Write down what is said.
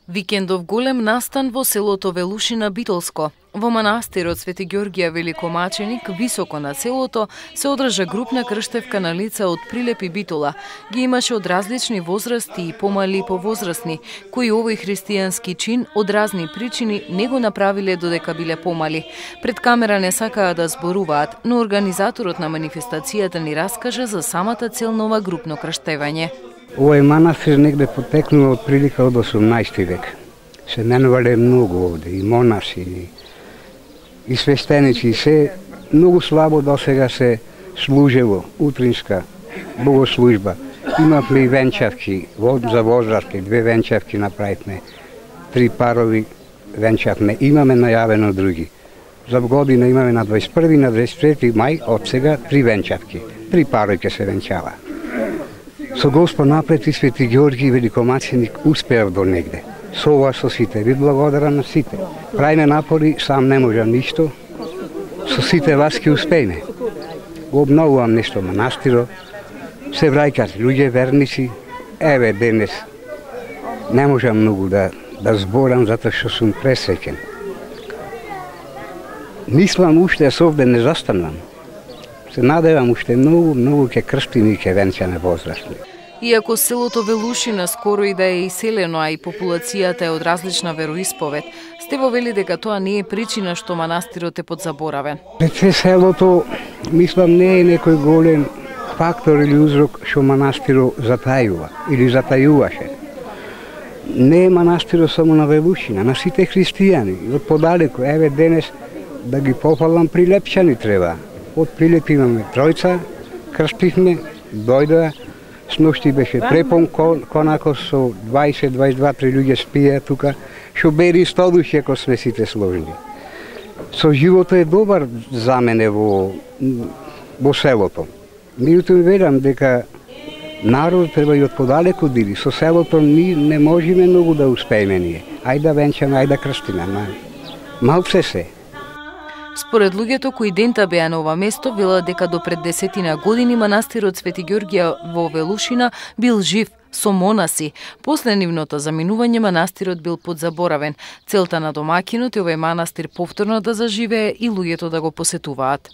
Викендов голем настан во селото Велушина Битолско. Во манастирот Свети Ѓорѓија Великомаченик, високо на селото, се одржа групна крштевка на лица од Прилеп и Битола. Ги имаше од различни возрасти и помали повозрастни, кои овој христијански чин од разни причини не го направиле додека биле помали. Пред камера не сакаа да зборуваат, но организаторот на манифестацијата ни раскажа за самата цел на ова групно крштевање. Овој манастир негде потекнува од прилика од 18 век. Се менувале многу овде, и монаси, и свештеници, и се многу слабо досега се служело, утринска богослужба. Имавме и венчавки, за возрасти, 2 венчавки направивме, 3 парови венчавме, имаме најавено други. За година имаме на 21 на 23 мај, од сега 3 венчавки, 3 парови ќе се венчава. Со Господ напред и Свети Ѓорѓи Великомаченик успеав до негде. Со ова со сите, ви благодарам на сите. Правиме напори, сам не можам ништо. Со сите вас ќе успееме. Го обновувам нешто манастиро. Се враќаат луѓе верници. Еве денес не можам многу да зборам затоа што сум пресреќен. Мислам уште овде не застанам. Се надевам уште многу ќе крстим и ќе венчаме возрастни. Иако селото Велушина скоро и да е иселено, а и популацијата е од различна вероисповед, Стево вели дека тоа не е причина што манастирот е подзаборавен. Рече селото, мислам, не е некој голем фактор или узрок што манастирот затајува или затајуваше. Не е манастирот само на Велушина, на сите христијани, од подалеку. Еве денес да ги пофалам прилепчани треба. Од Прилеп имаме тројца, крстивме, дојдоа, сношти беше препон конако со 20-22 луѓе спија тука, што бери 100 души ако сме сите сложни. Со живото е добар за мене во селото. Меѓутоа верам дека народ треба и од подалеку диви. Со селото ни не можеме многу да успееме ние. Ајде да венчаме, ајде да крстиме. Малце се. Според луѓето кои дента беа на ова место, велат дека до пред 10 години манастирот Свети Ѓорѓија во Велушина бил жив со монаси. После нивното заминување манастирот бил подзаборавен. Целта на домакинот е овој манастир повторно да заживее и луѓето да го посетуваат.